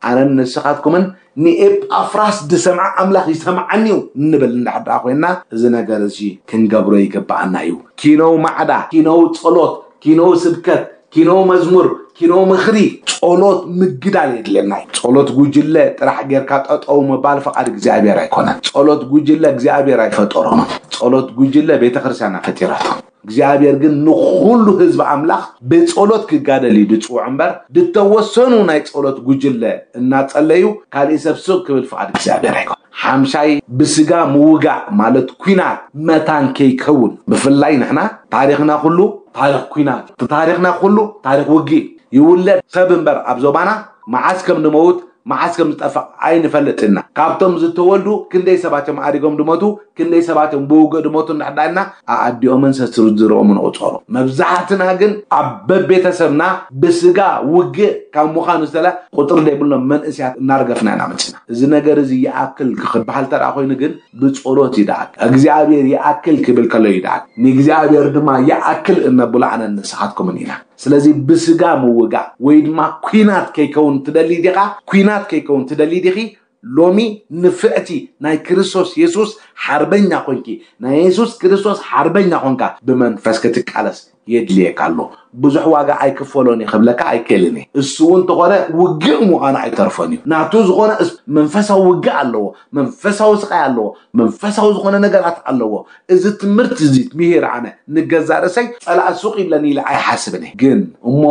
ኣነን ንስኻትኩምን ንኤጳፍራስ ዝሰምዐ ኣምላኽ ይሰምዓኒ እዩ እንብል እንድሕር ዳ ኮይና፣ እዚ ነገር እዚ ክንገብሮ ይግብኣና እዩ። ኪነው ማዕዳ፣ ኪነው ጸሎት፣ ኪነው ስብከት፣ ኪነው መዝሙር፣ ኪነው ምኽሪ፣ ጸሎት ምግዳል የድልየና እዩ። ጸሎት ጉጅለ ጥራሕ ጌርካ ጠጠው ምባል ፍቓድ እግዚኣብሔር ኣይኮነን። ጸሎት ጉጅለ እግዚኣብሔር ኣይፈጠሮምን። ጸሎት ጉጅለ ቤተ ክርስቲያና ፈጢራቶ። እግዚኣብሔር ግን ንኹሉ ህዝቢ ኣምላኽ ብጸሎት ክጋደል እዩ ዝጽውዕ እምበር፣ ዝተወሰኑ ናይ ጸሎት ጉጅለ እናጸለዩ ካሊእ ሰብ ስቕ ክብል ፍቓድ እግዚኣብሔር ኣይኮነን። ሓምሻይ፣ ብስጋ ምውጋእ ማለት ኲናት መታን ከይከውን፣ ብፍላይ ንሕና ታሪኽና ኩሉ ታሪኽ ኲናት፣ ታሪኽና ኩሉ ታሪኽ ውግእ ይውለድ። ሰብ እምበር ኣብ ዞባና መዓስ ከም ንመውት መዓስ ከም ዝጠፍእ ኣይንፈልጥና። ካብቶም ዝተወልዱ ክንደይ ሰባት እዮም ኣሪጎም ድሞቱ፣ ክንደይ ሰባት እዮም ብውግእ ድሞቱ እንዳሕዳልና ኣኣዲኦምን ሰስርዝርኦምን ቁጸሩ። መብዛሕትና ግን ኣብ በቤተሰብና ብስጋ ውግእ ካብ ምዃኑ ዝተለ ቁጥሪ ዘይብሎም መንእስያት እናርገፍና ኢና መጺና። እዚ ነገር እዚ ይኣክል ክበሃል ተደኣ ኮይኑ ግን ብጸሎት እዩ ደኣ። እግዚኣብሔር ይኣክል ክብል ከሎ እዩ ደኣ። ንእግዚኣብሔር ድማ ይኣክል እነብሎ ኣነን ንስኻትኩምን ኢና። ስለዚ ብስጋ ምውጋእ ወይ ድማ ኲናት ከይከውን ትደሊ ዲኻ? ኲናት ከይከውን ትደሊ ዲኺ? ሎሚ ንፍዕቲ ናይ ክርስቶስ የሱስ ሓርበኛ ኮንኪ፣ ናይ የሱስ ክርስቶስ ሓርበኛ ኮንካ ብመንፈስ ክትቃለስ የድልየካ ኣሎ። ብዙሕ ዋጋ ኣይክፈሎን እየ ክብለካ ኣይክእልን እየ። እሱ እውን እንተኾነ ውግእ ምዃኑ ኣይተርፎን እዩ። ናቱ ዝኾነ እስ-፣ መንፈሳዊ ውግእ ኣለዎ፣ መንፈሳዊ ስቓይ ኣለዎ፣ መንፈሳዊ ዝኾነ ነገራት ኣለዎ። እዚ ትምህርቲ እዚ ምሂር ኣነ ንገዛእ ርእሰይ ጸላእ ሱቕ ይብለኒ ኢለ ኣይሓስብን እየ። ግን እሞ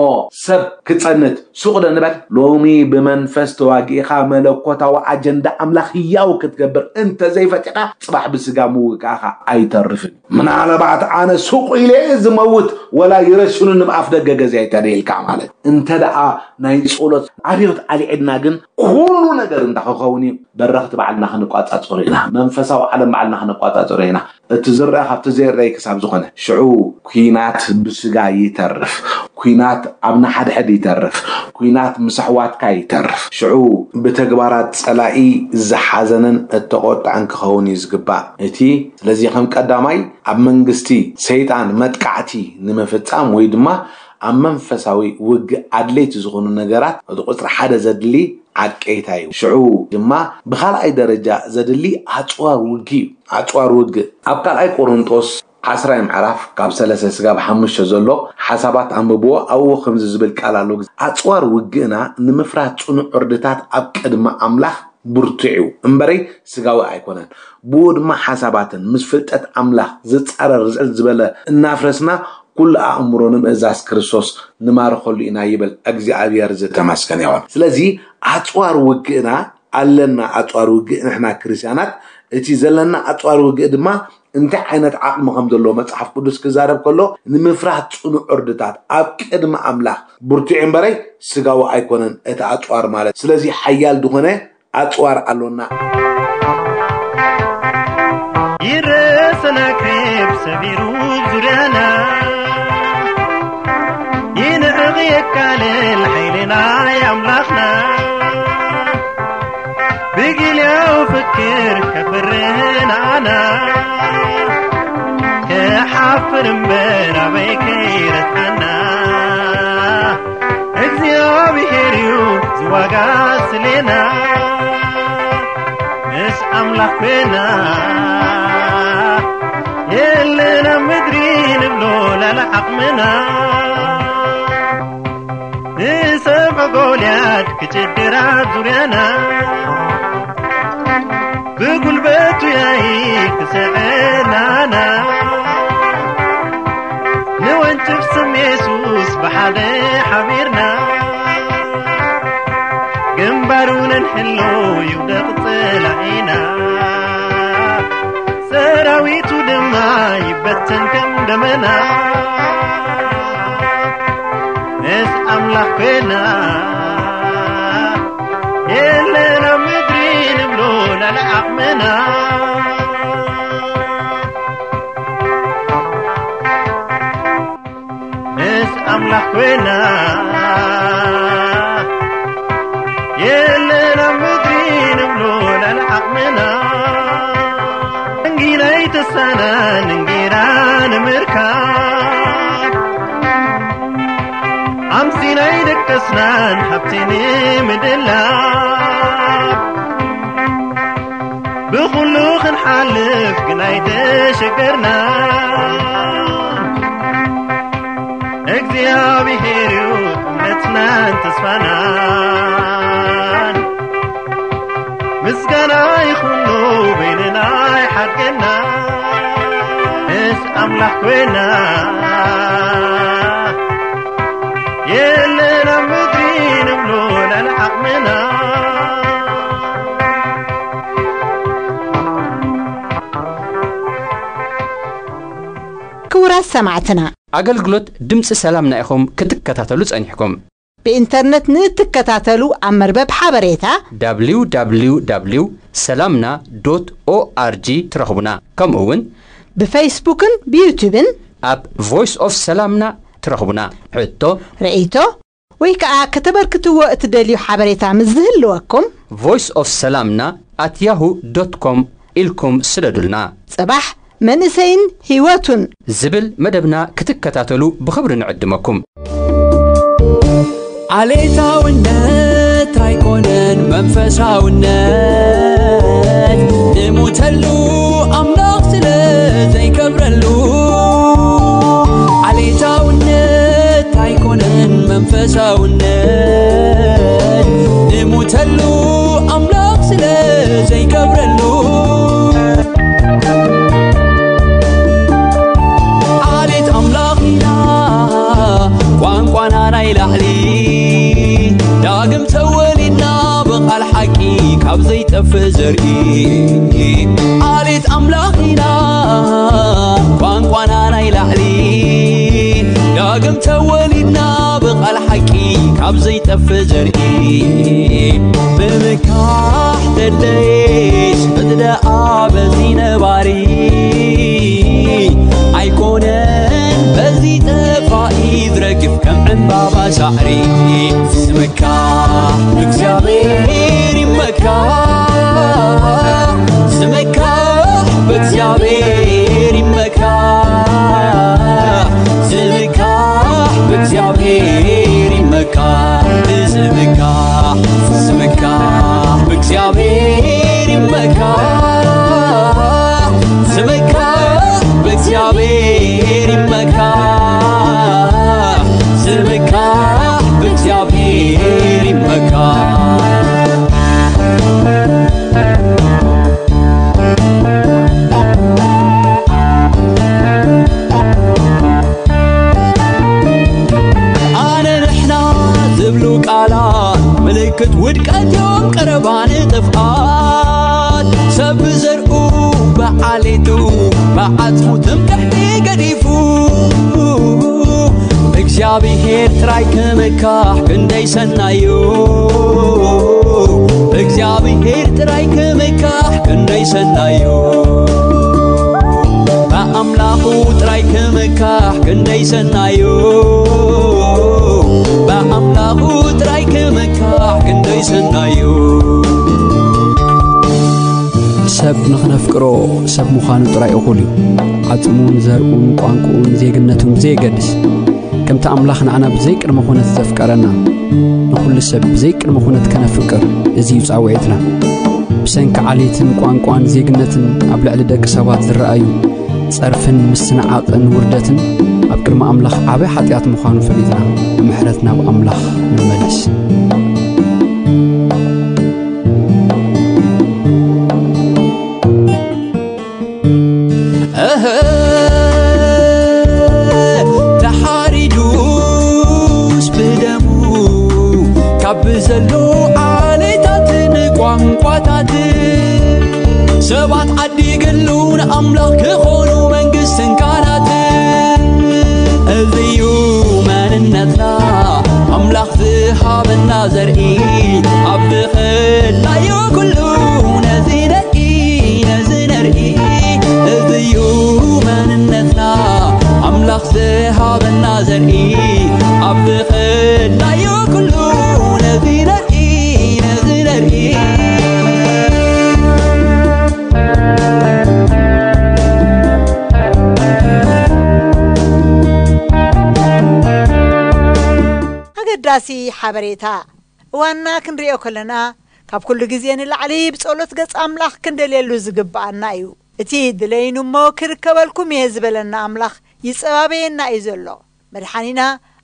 ሰብ ክጸንት ሱቕ ዶ ንበል? ሎሚ ብመንፈስ ተዋጊእኻ መለኮታዊ ኣጀንዳ ኣምላኽ ህያው ክትገብር እንተ ዘይፈቲኻ ጽባሕ ብስጋ ምውጋእኻ ኣይተርፍን። ምናልባት ኣነ ሱቕ ኢለ ዝመውት ወላ ይረሽኑኒ ብኣፍ ደገ ገዛይ ተደይልካ ማለት። እንተ ደኣ ናይ ጸሎት ኣብዮት ኣልዒልና ግን ኩሉ ነገር እንታይ ክኸውን እዩ? በረኽቲ ባዕልና ክንቋጻጸሩ ኢና። መንፈሳዊ ዓለም ባዕልና ክንቋጻጸሩ ኢና። እቲ ዝረአ ካብቲ ዘይረኣይ ክሳብ ዝኾነ። ሽዑ ኲናት ብስጋ ይተርፍ። ኲናት ኣብ ንሓድሕድ ይተርፍ። ኲናት ምስ ኣሕዋትካ ይተርፍ። ሽዑ ብተግባራት ጸላኢ ዝሓዘነን እተቖጥዐን ክኸውን እዩ ዝግባእ። እቲ ስለዚ ከም ቀዳማይ ኣብ መንግስቲ ሰይጣን መጥቃዕቲ ንምፍጻም ወይ ድማ ኣብ መንፈሳዊ ውግእ ኣድለይቲ ዝኾኑ ነገራት እቲ ቁጽሪ ሓደ ዘድሊ ዓቀይታ እዩ። ሽዑ ድማ ብኻልኣይ ደረጃ ዘድሊ ኣጽዋር ውግእ እዩ። ኣጽዋር ውግእ ኣብ ካልኣይ ቆሮንጦስ ዓስራይ ምዕራፍ ካብ ሰለስተ ስጋብ ሓሙሽተ ዘሎ ሓሳባት ኣንብብዎ። ኣብኡ ከምዚ ዝብል ቃል ኣሎ። ኣጽዋር ውግእና ንምፍራት ጽኑዕ ዕርድታት ኣብ ቅድሚ ኣምላኽ ብርቱዕ እዩ እምበረይ ስጋዊ ኣይኮነን። ብኡ ድማ ሓሳባትን ምስ ፍልጠት ኣምላኽ ዝጻረር ዝዕል ዝበለ እናፍረስና ኩሉ ኣእምሮ ንምእዛዝ ክርስቶስ ንማርኸሉ ኢና ይብል። እግዚኣብሔር ዝተመስገነ ይኹን። ስለዚ ኣጽዋር ውግእና ኣለና። ኣጽዋር ውግእ ንሕና ክርስቲያናት እቲ ዘለና ኣጽዋር ውግእ ድማ እንታይ ዓይነት ዓቕሚ ከም ዘለዎ መጽሓፍ ቅዱስ ክዛረብ ከሎ ንምፍራህ ጽኑዕ ዕርድታት ኣብ ቅድሚ ኣምላኽ ብርቱዕ እምበረይ ስጋዊ ኣይኮነን እቲ ኣጽዋር ማለት። ስለዚ ሓያል ዝኾነ ኣጽዋር ኣሎና። ይረሰና ክብ ሰቢሩ ዙርያና ይንዕቕ የካልል ሓይልና ኣምላኽና ብግልያው ፍክር ከፍርህን ኣና ኣፍር እምበር ኣበይ ከይረትዓና እግዚኣብሔር እዩ ዝዋጋ ስሌና ምስ ኣምላኽ ኮይና የለን ኣብ ምድሪ ንብሎ ላለ ዓቕምና ንሰብዖ ጎልያድ ክጭድር ኣብ ዙርያና ብጉልበቱ ያይ ክስዕር ናና ንወንጭፍ ስም የሱስ ብሓደ ሓቢርና ግንባሩ ነንሕሎ ይውደቕ ጸላኢና ሰራዊቱ ድማ ይበተን ከም ደመና ምስ ኣምላኽ ኮይና የለን ኣብ ምድሪ ንብሎ ላለ ዓቕምና ምስ ኣምላኽ ኮይና የለን ኣብ ምድሪ ንብሎ ላለ ዓቕምና እንጊና ይተሳናን እንጊና ንምርካብ ኣምሲናይ ደቀስናን ሃብቲ ንምድላብ ብኹሉ ክንሓልፍ ግን ኣይተሸገርና እግዚኣብሔር እዩ እምነትናን ተስፋናን ምስጋና ይኹኖ በይንና ይሓድገና ምስ ኣምላኽ ኮይና የለን ኣብ ምድሪ ንብሎ ላለ ዓቕምና ክቡራት ሰማዕትና ኣገልግሎት ድምፂ ሰላምና ኢኹም ክትከታተሉ ጸኒሕኩም። ብኢንተርነት ንእትከታተሉ ኣብ መርበብ ሓበሬታ www ሰላምና ዶት ኦኣርጂ ትረኽቡና። ከምኡ እውን ብፌስቡክን ብዩቱብን ኣብ ቮይስ ኦፍ ሰላምና ትረኽቡና። ሕቶ፣ ርእይቶ ወይ ከዓ ከተበርክትዎ እትደልዩ ሓበሬታ ምስ ዝህልወኩም ቮይስ ኦፍ ሰላምና ኣት ያሁ ዶት ኮም ኢልኩም ስደዱልና። ጽባሕ መንእሰይን ህይወቱን ዝብል መደብና ክትከታተሉ ብኽብሪ ንዕድመኩም። ዓሌታውነት ኣይኮነን መንፈሳውነት ንሙተሉ ኣምላኽ ስለ ዘይከብረሉ ዓሌታውነት ኣይኮነን መንፈሳውነት ንሙተሉ ኣምላኽ ስለ ዘይከብረሉ ዓሌት ኣምላኽ ኢና ቋንቋና ናይ ላዕሊ ዳግም ተወሊድና ብቓል ሓቂ ካብ ዘይጠፍእ ዘርኢ ዓሌት ኣምላኽ ኢና ቋንቋና ናይ ላዕሊ ዳግም ተወሊድና ብቓል ሓቂ ካብ ዘይጠፍእ ዘርኢ ምምካሕ ደለየሽ ቅድደኣ በዚ ነባሪ ኣይኮነን በዚ ጠፋኢ ዝረግፍ ከም ዕምባባ ሳዕሪ ስምካ እግዚኣብሔር ይመካ ስምካ ብእግዚኣብሔር ይመካ ስምካ ብእግዚኣብሔር ይመካ ስምካ ስምካ ብእግዚኣብሔር ይመካ ስምካ ብእግዚኣብሔር ይመካ ስምካ ብእግዚኣብሔር ይመካ ኣነ ንሕና ዝብሉ ቃላት ምልክት ውድቀት እዮም ቀረባ ንጥፍኣት ሰብ ብዘርኡ ብዓሌቱ ብዓጽሙ ትምክሕቲ ገዲፉ እግዚኣብሔር ጥራይ ክምካሕ ክንደይ ሰናዩ እግዚኣብሔር ጥራይ ክምካሕ ክንደይ ሰናዩ ብኣምላኹ ጥራይ ክምካሕ ክንደይ ሰናዩ ብኣምላኹ ጥራይ ክምካሕ ክንደይ ሰናዩ ንኽነፍቅሮ ሰብ ምዃኑ ጥራይ እኹል እዩ። ዓጽሙን ዘርኡን ቋንቋኡን ዜግነቱን ብዘየገድስ፣ ከምቲ ኣምላኽ ንዓና ብዘይቅድመ ኩነት ዘፍቀረና፣ ንኹሉ ሰብ ብዘይቅድመ ኩነት ከነፍቅር፣ እዚ እዩ ጻውዒትና። ብሰንኪ ዓሌትን ቋንቋን ዜግነትን ኣብ ልዕሊ ደቂ ሰባት ዝረኣዩ ጸርፍን ምስንዓቕን ውርደትን ኣብ ቅድሚ ኣምላኽ ዓቢ ሓጢኣት ምዃኑ ፈሊጥና፣ ብምሕረት ናብ ኣምላኽ ንመለስ። እህ፣ ተሓሪዱስ ብደሙ ካብ ዘሎ ዓሌታትን ቋንቋታትን ሰባት ዓዲግሉ ንኣምላኽ ክኾኑ መንግስትን ካህናትን። እዚዩ መንነትና ኣምላኽ ዝሃበና ዘርኢ ኣብ ዝኽላዮ ኩሉ ነዚ ነርኢ ነዚ ነርኢ እዚዩ መንነትና ኣምላኽ ዝሃበና ዘርኢ ኣብ ዝኽላዮ ኩሉ ነዚ ነርኢ ነዚ ነርኢ። ኣገዳሲ ሓበሬታ። እዋንና ክንሪኦ ከለና፣ ካብ ኩሉ ግዜ ንላዕሊ ብጸሎት ገጽ ኣምላኽ ክንደልየሉ ዝግብኣና እዩ። እቲ ድለይኑ እሞ ክርከበልኩም እየ ዝበለና ኣምላኽ ይጸባበየና እዩ ዘሎ። መድሓኒና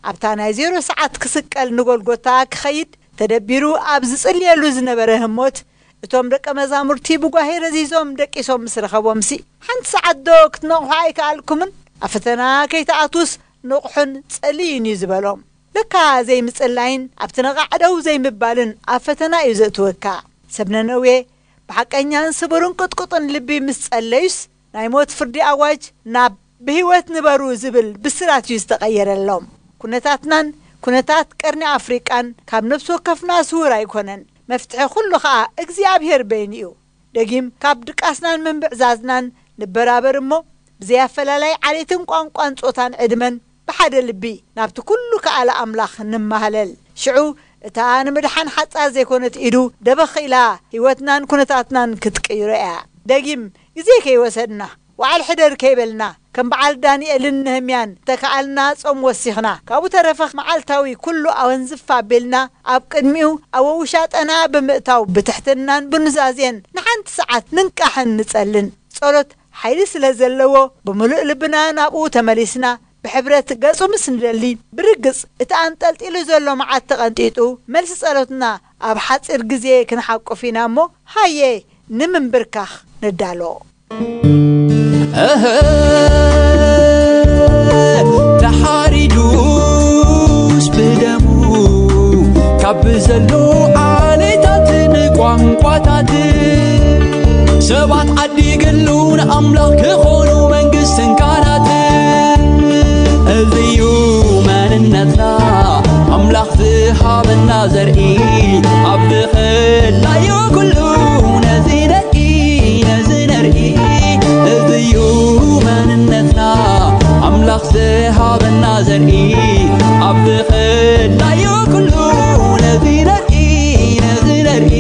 ኣብታ ናይ ዜሮ ሰዓት ክስቀል ንጎልጎታ ክኸይድ ተደቢሩ ኣብ ዝጽልየሉ ዝነበረ ህሞት፣ እቶም ደቀ መዛሙርቲ ብጓሄ ረዚዞም ደቂሶም ምስ ረኸቦምሲ፣ ሓንቲ ሰዓት ዶ ክትነቕሑ ኣይከኣልኩምን? ኣብ ፈተና ከይትኣትዉስ ንቕሑን ጸልዩን እዩ ዝበሎም። ለካ ዘይምጽላይን ኣብቲ ነቓዕ ደው ዘይምባልን ኣብ ፈተና እዩ ዘእትወካ። ሰብ ነነዌ፣ ብሓቀኛን ስቡርን ቅጥቁጥን ልቢ ምስ ጸለዩስ፣ ናይ ሞት ፍርዲ ኣዋጅ ናብ ብህይወት ንበሩ ዝብል ብስራት እዩ ዝተቐየረሎም። ኩነታትናን ኩነታት ቀርኒ ኣፍሪቃን ካብ ነፍሲ ወከፍና ስውር ኣይኮነን። መፍትሒ ኩሉ ኸኣ እግዚኣብሔር በይኑ እዩ። ደጊም ካብ ድቃስናን ምንብዕዛዝናን ንበራበር እሞ፣ ብዘይ ኣፈላላይ ዓሌትን ቋንቋን ጾታን ዕድመን ብሓደ ልቢ ናብቲ ኩሉ ከኣለ ኣምላኽ ንማህለል። ሽዑ እታ ንምድሓን ሓጻር ዘይኮነት ኢዱ ደበኽ ኢላ ህይወትናን ኩነታትናን ክትቅይሮ እያ። ደጊም ግዜ ከይወሰድና፣ ወዓል ሕደር ከይበልና፣ ከም በዓል ዳንኤልን ነህምያን ተከኣልና ጾም ወሲኽና፣ ካብኡ ተረፈ መዓልታዊ ኩሉ ኣወንዝፍ ኣቢልና ኣብ ቅድሚኡ ኣብ ውሻጠና ብምእታው ብትሕትናን ብኑዛዜን ንሓንቲ ሰዓት ንንቃሕን ንጸልን። ጸሎት ሓይሊ ስለ ዘለዎ ብምሉእ ልብና ናብኡ ተመሊስና ብሕብረት ገጹ ምስ ንደሊ፣ ብርግጽ እቲ ኣንጠልጢሉ ዘሎ መዓት ተቐንጢጡ፣ መልሲ ጸሎትና ኣብ ሓጺር ግዜ ክንሓቁፍ ኢና እሞ፣ ሃየ ንምንብርካኽ ንዳሎ። እህ፣ ተሓሪዱስ ብደሙ ካብ ዘሎ ዓሌታትን ቋንቋታትን ሰባት ዓዲግሉ ንኣምላኽ ክኾኑ መንግስትን ካህናትን። እዚዩ መንነትና ኣምላኽ ዝሃበና ዘርኢ ኣብ ዝኽላዮ ኩሉ ነዚ ነርኢ ነዚ ነርኢ እዚዩ መንነትና ኣምላኽ ዝሃበና ዘርኢ ኣብ ዝኽላዮ ኩሉ ነዚ ነርኢ ነዚ ነርኢ።